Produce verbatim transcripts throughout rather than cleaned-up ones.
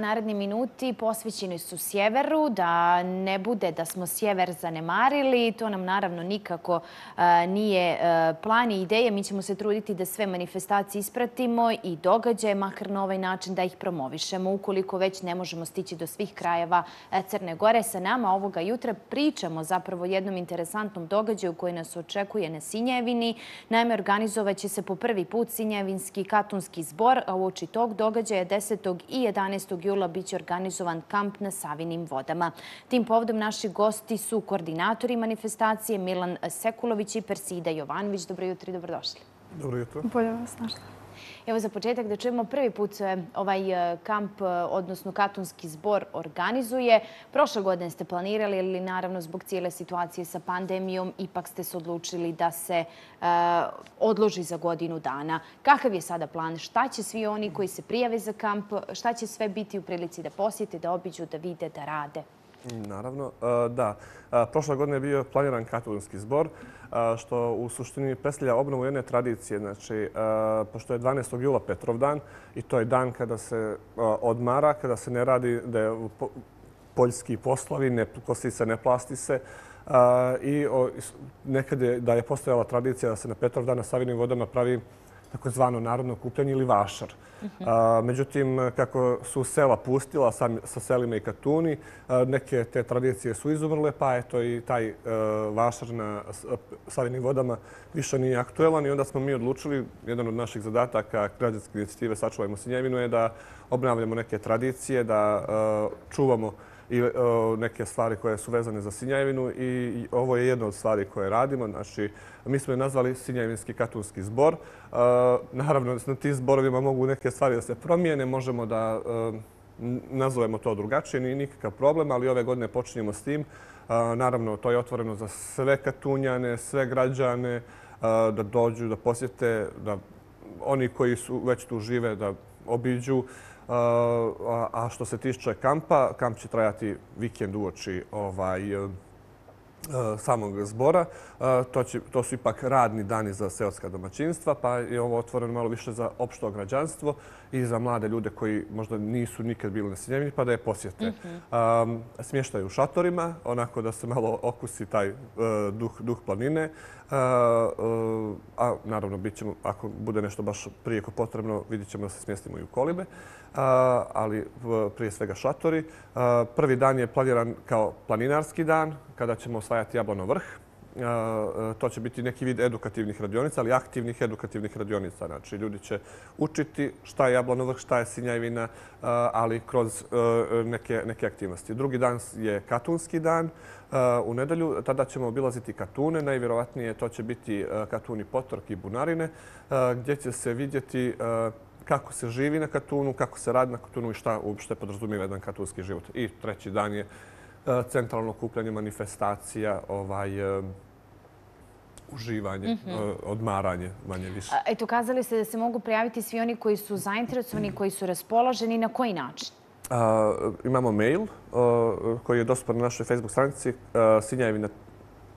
Naredni minuti posvećeni su sjeveru, da ne bude da smo sjever zanemarili. To nam naravno nikako nije plan i ideja. Mi ćemo se truditi da sve manifestacije ispratimo i događaje, makar na ovaj način da ih promovišemo. Ukoliko već ne možemo stići do svih krajeva Crne Gore, sa nama ovoga jutra pričamo zapravo o jednom interesantnom događaju koji nas očekuje na Sinjevini. Naime, organizovat će se po prvi put Sinjevinski katunski zbor, a uoči tog događaja desetog i jedanaestog jula biće organizovan kamp na Savinim vodama. Tim povodom naši gosti su koordinatori manifestacije Milan Sekulović i Persida Jovanović. Dobro jutro i dobrodošli. Dobro jutro. Bolje vas našla. Evo za početak da čujemo, prvi put se ovaj kamp, odnosno katunski zbor, organizuje. Prošle godine ste planirali, ali naravno zbog cijele situacije sa pandemijom ipak ste se odlučili da se uh, odloži za godinu dana. Kakav je sada plan? Šta će svi oni koji se prijave za kamp, šta će sve biti u prilici da posjete, da obiđu, da vide, da rade? Naravno, da. Prošle godine je bio planiran katunski zbor, što u suštini predstavlja obnovu jedne tradicije. Znači, pošto je dvanaestog jula Petrovdan i to je dan kada se odmara, kada se ne radi, da je poljski poslovi, ne kosi se, ne plasti se. I nekad je da je postojala tradicija da se na Petrovdan na Savinim vodama pravi takozvano narodno okupljanje ili vašar. Međutim, kako su sela pustila sa selima i Katuni, neke te tradicije su izumrle, pa eto i taj vašar na Savinim vodama više nije aktuelan i onda smo mi odlučili, jedan od naših zadataka građanske inicijative Sačuvajmo Sinjevinu je da obnavljamo neke tradicije, da čuvamo i neke stvari koje su vezane za Sinjevinu i ovo je jedna od stvari koje radimo. Znači, mi smo je nazvali Sinjevinski katunski zbor. Naravno, na tim zborovima mogu neke stvari da se promijene, možemo da nazovemo to drugačije, nije nikakav problem, ali ove godine počinjemo s tim. Naravno, to je otvoreno za sve Katunjane, sve građane, da dođu, da posjete, da oni koji su već tu žive, da obiđu. A što se tiče kampa, kamp će trajati vikend uoči samog zbora. To su ipak radni dani za seoska domaćinstva, pa je ovo otvoreno malo više za opšto građanstvo i za mlade ljude koji možda nisu nikad bili na Sinjevini, pa da je posjete. Smještaju u šatorima, onako da se malo okusi taj duh planine. A naravno, ako bude nešto baš prijeko potrebno, vidjet ćemo da se smjestimo i u kolibe. Ali prije svega šatori. Prvi dan je planiran kao planinarski dan, kada ćemo osvajati Jablanov vrh. To će biti neki vid edukativnih radionica, ali aktivnih edukativnih radionica. Znači, ljudi će učiti šta je Jablanov vrh, šta je Sinjevina, ali kroz neke aktivnosti. Drugi dan je katunski dan. U nedelju tada ćemo obilaziti Katune. Najvjerovatnije to će biti Katuni Potork i Bunarine, gdje će se vidjeti kako se živi na Katunu, kako se radi na Katunu i šta uopšte podrazumijeva jedan katunski život. I treći dan je centralno okupljanje, manifestacija, uživanje, odmaranje, manje više. Eto, kazali ste da se mogu prijaviti svi oni koji su zainteresovani, koji su raspoloženi. Na koji način? Imamo mail koji je dostupan na našoj Facebook stranici sinjevina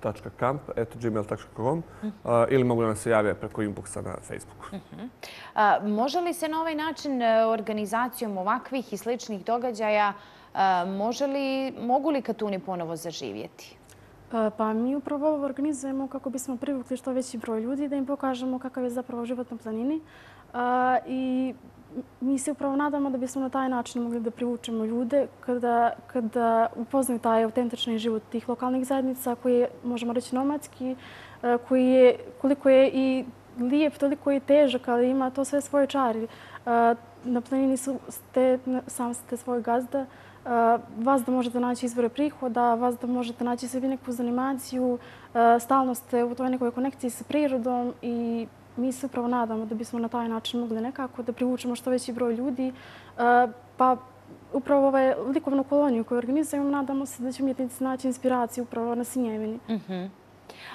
tačka kamp at gmail tačka com ili mogu da nam se jave preko inboxa na Facebooku. Može li se na ovaj način organizacijom ovakvih i sličnih događaja mogu li Katuni ponovo zaživjeti? Pa mi upravo ovo organizujemo kako bismo privukli što veći broj ljudi, da im pokažemo kakav je zapravo život na planini. I mi se upravo nadamo da bismo na taj način mogli da privučemo ljude kada upoznaju taj autentični život tih lokalnih zajednica koji je, možemo reći, nomadski, koji je, koliko je i lijep, toliko je težak, ali ima to sve svoje čari. Na planini ste, sam ste svoj gazda, vas da možete naći izvore prihoda, vas da možete naći sebi neku zanimaciju, stalno ste u toj nekoj konekciji sa prirodom i mi se upravo nadamo da bismo na taj način mogli nekako da privučemo što veći broj ljudi. Pa upravo ovaj likovnu koloniju koju organizujemo, nadamo se da će umjetnici naći inspiraciju upravo na Sinjevini.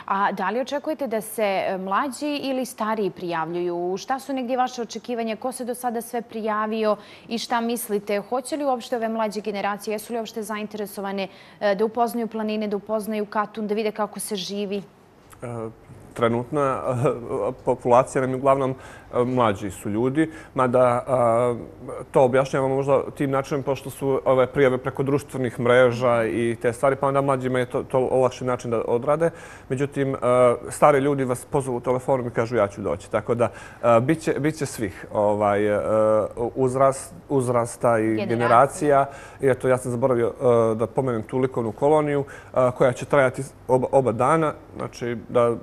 A da li očekujete da se mlađi ili stariji prijavljuju? Šta su negdje vaše očekivanja? Ko se do sada sve prijavio i šta mislite? Hoće li uopšte ove mlađe generacije, jesu li uopšte zainteresovane da upoznaju planine, da upoznaju Katun, da vide kako se živi? trenutna populacija nam je uglavnom mlađi su ljudi, mada to objašnjavamo možda tim načinom pošto su ove prijave preko društvenih mreža i te stvari, pa onda mlađima je to, to lakši način da odrade. Međutim, stari ljudi vas pozovu u telefonu i kažu ja ću doći. Tako da bit će, bit će svih ovaj, uzrast, uzrasta i generacija. generacija. I eto, ja sam zaboravio da pomenem tu likovnu koloniju koja će trajati oba, oba dana. Znači, da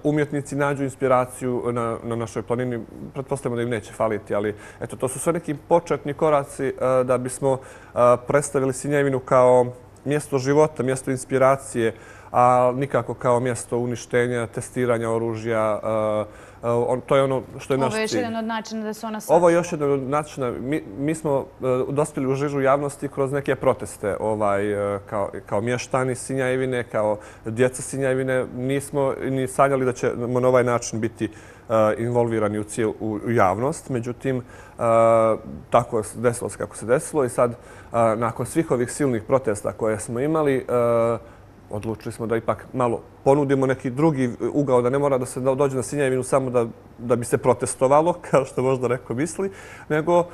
umjetnici nađu inspiraciju na, na našoj planini. Pretpostavljamo da im neće faliti, ali eto, to su sve neki početni koraci da bismo predstavili Sinjevinu kao mjesto života, mjesto inspiracije, a nikako kao mjesto uništenja, testiranja oružja. To je ono što je naš cilj. Ovo je još jedan od načina da se ona sačuva. Ovo je još jedan od načina. Mi, mi smo dospjeli u žižu javnosti kroz neke proteste ovaj, kao, kao mještani Sinjevine, kao djeca Sinjevine. Nismo ni sanjali da ćemo na ovaj način biti uh, involvirani u, cijel, u javnost. Međutim, uh, tako desilo se kako se desilo i sad uh, nakon svih ovih silnih protesta koje smo imali, uh, odlučili smo da ipak malo ponudimo neki drugi ugao, da ne mora da se dođe na Sinjevinu samo da, da bi se protestovalo, kao što možda neko misli, nego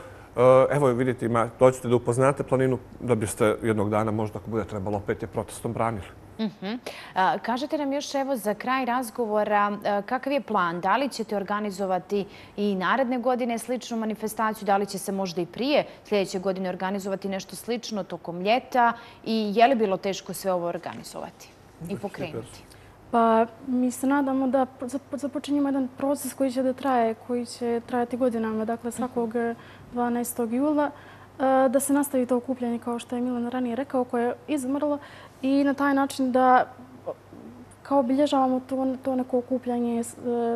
evo vidite, dođete da upoznate planinu da biste jednog dana možda ako bude trebalo opet je protestom branili. Uh-huh. A, kažete nam još evo za kraj razgovora a, kakav je plan? Da li ćete organizovati i naredne godine sličnu manifestaciju? Da li će se možda i prije sljedeće godine organizovati nešto slično tokom ljeta? I je li bilo teško sve ovo organizovati i pokrenuti? Pa mi se nadamo da započinjemo jedan proces koji će da traje, koji će trajati godinama, dakle svakog dvanaestog jula, da se nastavi to okupljanje kao što je Milan ranije rekao, koje je izmrlo i na taj način da kao obilježavamo to, to neko okupljanje,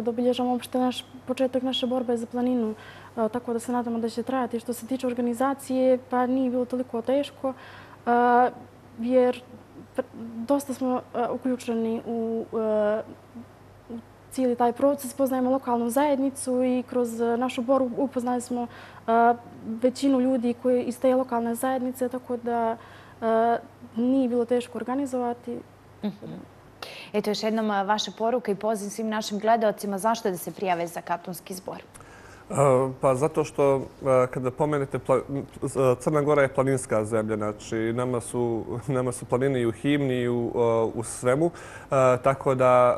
da obilježavamo uopšte naš početak naše borbe za planinu, tako da se nadamo da će trajati. Što se tiče organizacije, pa nije bilo toliko teško, jer dosta smo uključeni u cijeli taj proces, poznajemo lokalnu zajednicu i kroz našu borbu upoznali smo većinu ljudi koji iz te lokalne zajednice, tako da nije bilo teško organizovati. Eto još jednom vaša poruka i poziv svim našim gledalcima zašto da se prijave za Katunski zbor. Pa zato što kada pomenete, Crna Gora je planinska zemlja, znači nama su, nama su planine i u himni i u, u svemu, tako da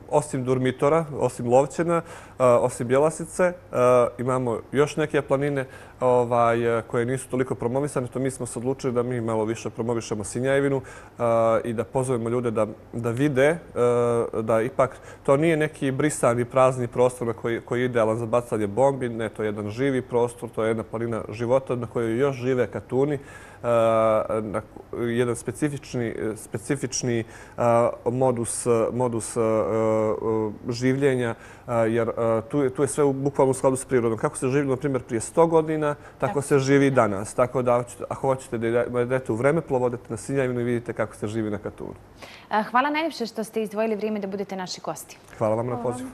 osim Durmitora, osim Lovćena, osim Bjelasice, imamo još neke planine ovaj, koje nisu toliko promovisane. To mi smo se odlučili da mi malo više promovišemo Sinjevinu i da pozovemo ljude da, da vide da ipak to nije neki brisani prazni prostor koji, koji je idealan za bacanje bombi. Ne, to je jedan živi prostor, to je jedna planina života na kojoj još žive Katuni. Uh, jedan specifični, specifični uh, modus, modus uh, uh, življenja, uh, jer uh, tu, je, tu je sve u, bukvalno u skladu s prirodom. Kako se živilo, na primjer, prije sto godina, tako, tako se živi danas. Tako da, ako hoćete da idete u vremeplov, odete na Sinjevinu i vidite kako se živi na Katunu. Hvala najljepše što ste izdvojili vrijeme da budete naši gosti. Hvala vam na pozivu.